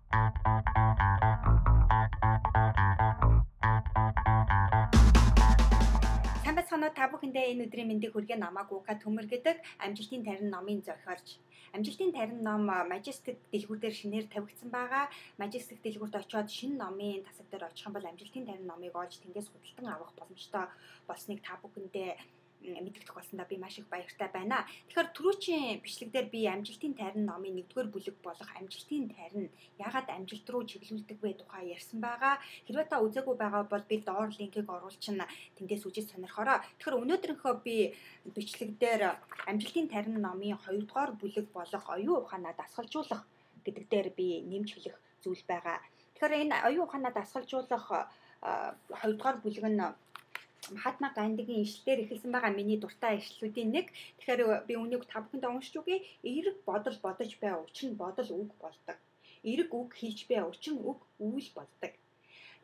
Сайн байцгаана уу, та бүхэндээ энэ өдрийн мэндийг хүргэн намайг Ука Төмөр гэдэг амжилтын тарин номын зохиолч. Амжилтын тарин ном Majestic дэлгүүр дээр шинээр тавигдсан байгаа. Majestic дэлгүүрт очиод шинэ номын тасаг дээр очих юм бол амжилтын тарин номыг олж тэндээс худалдан авах боломжтой болсныг та бүхэндээ мэдгдэх болсондоо би маш их баяртай байна. Тэгэхээр түрүүчийн бичлэгдэр би амжилтын тарин номын 1-р бүлэг болох амжилтын тарин яагаад амжилт руу чиглүүлдэг вэ тухай ярьсан байгаа. Хэрвээ та үзээгүй байгаа бол би доор линкийг оруулчихна. Тэндээс үзэж сонирхороо. Тэгэхээр өнөөдрийнхөө би бичлэгдэр амжилтын тарин номын 2-р бүлэг болох оюун ухаанаа дасгалжуулах гэдэг дээр би нэмж хэлэх зүйл байгаа. Тэгэхээр энэ оюун ухаанаа дасгалжуулах 2-р бүлэг нь Махатма Гандигийн ишлэлээр эхэлсэн байгаа миний дуртай ишлэлүүдийн нэг. Тэгэхээр би үнийг та бүхэндээ уншиж өгье. Эерэг бодол бодож бай, учир нь бодол үг болдог. Эерэг үг хийж бай, учир нь үг үйл болдог.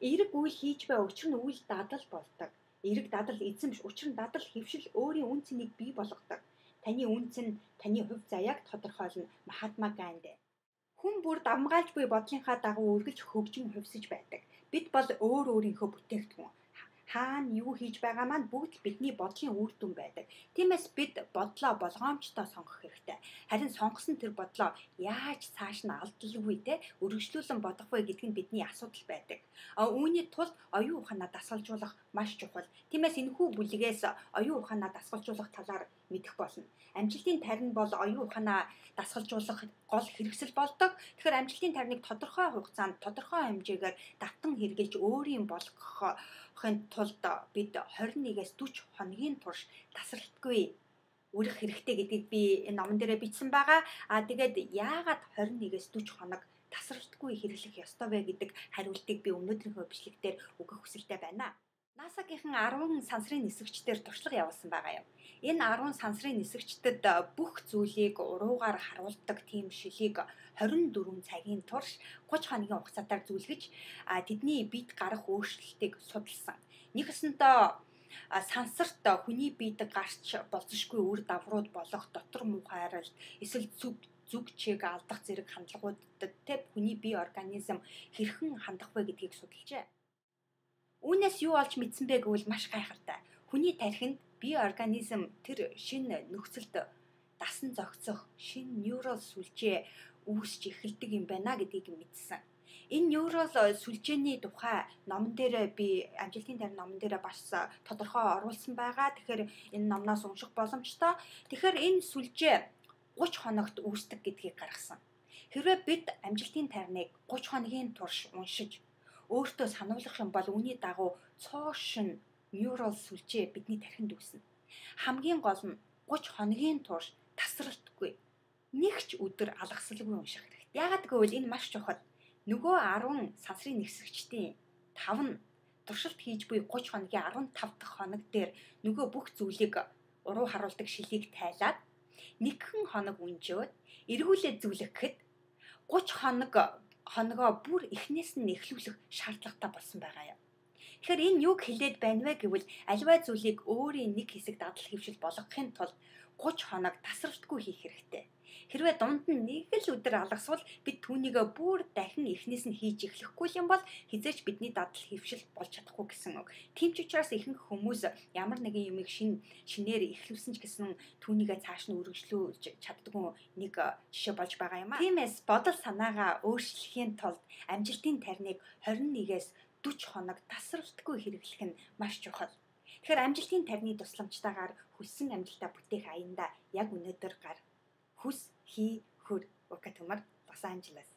Эерэг үйл хийж бай, учир нь үйл дадал болдог. Эерэг дадал эзэмш, учир нь дадал хэвшил өөрийн үн цэнийг бий болгодог. Таны үн цэн таны хувь заяаг тодорхойлно. Махатма Ганди. Хүн бүр давмгаалж буй бодлынхаа дагуу үргэлж хөгжин хувьсаж байдаг. Бид бол өөрийнхөө бүтээгдэхүүн. Хаана юу хийж байгаа маань бүгд бидний бодлын үр дүн байдаг. Тиймээс бид бодлоо болгоомжтой сонгох хэрэгтэй. Харин сонгосон тэр бодлоо яаж цааш нь алдалгүй те өргөжлүүлэн бодох вэ гэдг нь бидний асуудал байдаг. Үүний тулд оюун ухаанаа дасгалжуулах маш чухал. Тиймээс энэхүү бүлгээс оюун ухаанаа дасгалжуулах талаар мэдэх болно. Амжилтын тарин бол оюун ухаанаа дасгалжуулах гол хэрэгсэл болдог. Тэгэхээр амжилтын тариныг тодорхой хугацаанд тодорхой хэмжээгээр давтан хэрэгжилж өөрийн болгохын тулд бид 21-ээс 40 хоногийн турш тасралтгүй үрэх хэрэгтэй гэдгийг би энэ номон дээрээ бичсэн байгаа. Тэгээд яагаад 21-ээс 40 хоног тасралтгүй хэрэглэх ёстой вэ гэдэг хариултыг би өнөөдрийнхөө бичлэгтээр өгөх хүсэлтэй байна. NASA-гийнхан 10 сансрын нисгэгчдээр туршлага явуулсан байгаа юм. Энэ 10 сансрын нисгэгчдэд бүх зүйлийг уруугаар харуулдаг тийм шилийг 24 цагийн турш 30 хоногийн хугацаатаар зүйлгэж тэдний биед гарах өөрчлөлтийг судалсан. Нэгсэндээ сансарт хүний биед гарч болцсошгүй үр дагаврууд болох дотор муухай арилт, эсвэл зүг чиг алдах зэрэг хандлагуудад хүний бие организм хэрхэн хандах вэ гэдгийг судалжээ. Үүнээс юу олж мэдсэн бэ гэвэл маш гайхалтай. Хүний тархинд бие организм тэр шинэ нөхцөлд дасан зохицох шинэ нейрал сүлжээ үүсч эхэлдэг юм байна гэдгийг мэдсэн. Энэ нейрал сүлжээний тухай номон дээр би амжилтын тарин номон дээр бас тодорхой оруулсан байгаа. Тэгэхээр энэ номноос унших боломжтой. Тэгэхээр энэ сүлжээ 30 хоногт үүсдэг гэдгийг гаргасан. Хэрвээ бид амжилтын тариныг 30 хоногийн турш уншиж өөртөө сануулгах юм бол үүний дагуу цоошин нейрал сүлжээ бидний тархинд үүснэ. Хамгийн гол нь 30 хоногийн турш тасралтгүй нэг ч өдөр алгасалгүй унших хэрэгтэй. Яагаад гэвэл энэ маш чухал. Нөгөө 10 сансрын нисгэгчдийн 5 нь туршилт хийж буй 30 хоногийн 15 дахь хоног дээр нөгөө бүх зүйлийг уруу харуулдаг шилийг тайлаад нэгэн хоног унжоод эргүүлээд зүлгэхэд 30 хоногоо бүр эхнээс нь эхлүүлэх шаардлагатай болсон байгаа юм. Тэгэхээр энэ юг хэлээд байна вэ гэвэл аливаа зүйлийг өөрийн нэг хэсэг дадал хэвшил болгохын тулд 30 хоног тасралтгүй хийх хэрэгтэй. Хэрвээ дунд нь нэг л өдөр алгасвал бид түүнийг бүр дахин эхнээс нь хийж эхлэхгүй юм бол хизээч бидний дадал хэвшил болж чадахгүй гэсэн үг. Тийм ч учраас ихэнх хүмүүс ямар нэгэн юмыг шинээр эхлүүлсэн ч гэсэн түүнийг цааш нь үргэлжлүүлж чаддгүй нэг жишээ болж байгаа юм аа. Тиймээс бодол санаагаа өөрчлөхийн тулд амжилтын тариныг 21-ээс 40 хоног тасралтгүй хэрэглэх нь маш чухал. Тэгэхээр амжилтын тарины тусламжтайгаар хүссэн амжилтаа бүтээх аяндаа яг өнөөдөр гар. Хүс, хий, хөр. Ука Төмөр, Лос Анжелес.